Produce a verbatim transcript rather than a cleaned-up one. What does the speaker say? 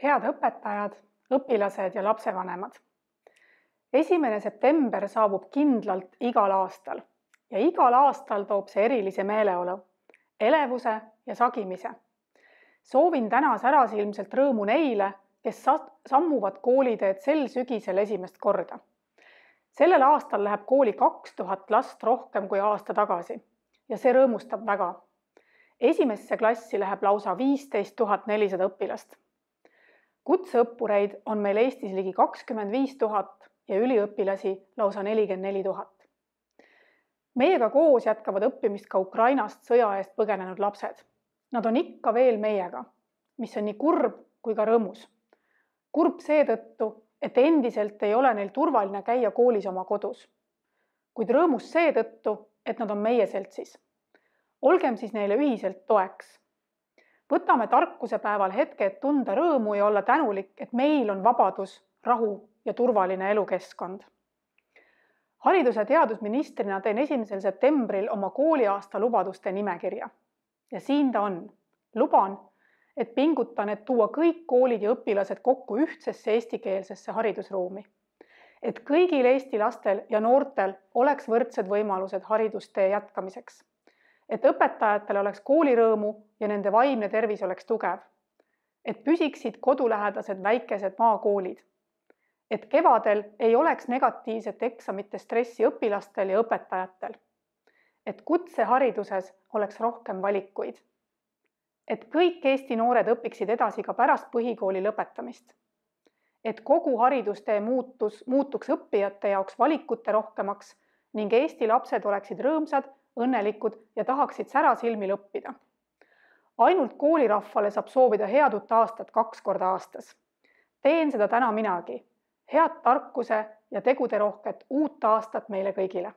Head õpetajad, õpilased ja lapsevanemad. esimene september saabub kindlalt igal aastal ja igal aastal toob see erilise meeleolu, elevuse ja sagimise. Soovin täna särasilmselt rõõmu neile, kes sammuvad kooliteed sel sügisel esimest korda. Sellel aastal läheb kooli kaks tuhat last rohkem kui aasta tagasi ja see rõõmustab väga. Esimesse klassi läheb lausa viisteist tuhat nelisada õpilast. Kutseõppureid on meil Eestis ligi kakskümmend viis tuhat ja üliõpilasi lausa nelikümmend neli tuhat. Meiega koos jätkavad õppimist ka Ukrainast sõja eest põgenenud lapsed. Nad on ikka veel meiega, mis on nii kurb kui ka rõõmus. Kurb seetõttu, et endiselt ei ole neil turvaline käia koolis oma kodus. Kuid rõõmus seetõttu, et nad on meie seltsis. Olgem siis neile ühiselt toeks. Võtame tarkuse päeval hetke, et tunda rõõmu ja olla tänulik, et meil on vabadus, rahu ja turvaline elukeskkond. Haridus- ja teadusministrina teen esimesel septembril oma kooliaasta lubaduste nimekirja. Ja siin ta on. Luban, et pingutan, et tuua kõik koolid ja õpilased kokku ühtsesse eestikeelsesse haridusruumi. Et kõigil Eesti lastel ja noortel oleks võrdsed võimalused haridustee jätkamiseks. Et õpetajatel oleks koolirõõmu ja nende vaimne tervis oleks tugev. Et püsiksid kodulähedased väikesed maakoolid. Et kevadel ei oleks negatiivset eksamite stressi õpilastel ja õpetajatel. Et kutsehariduses oleks rohkem valikuid. Et kõik Eesti noored õpiksid edasi ka pärast põhikooli lõpetamist. Et kogu haridustee muutus, muutuks õppijate jaoks valikute rohkemaks ning Eesti lapsed oleksid rõõmsad, õnnelikud ja tahaksid särasilmil õppida. Ainult koolirahvale saab soovida head uut aastat kaks korda aastas. Teen seda täna minagi. Head tarkuse ja tegude rohket uut aastat meile kõigile.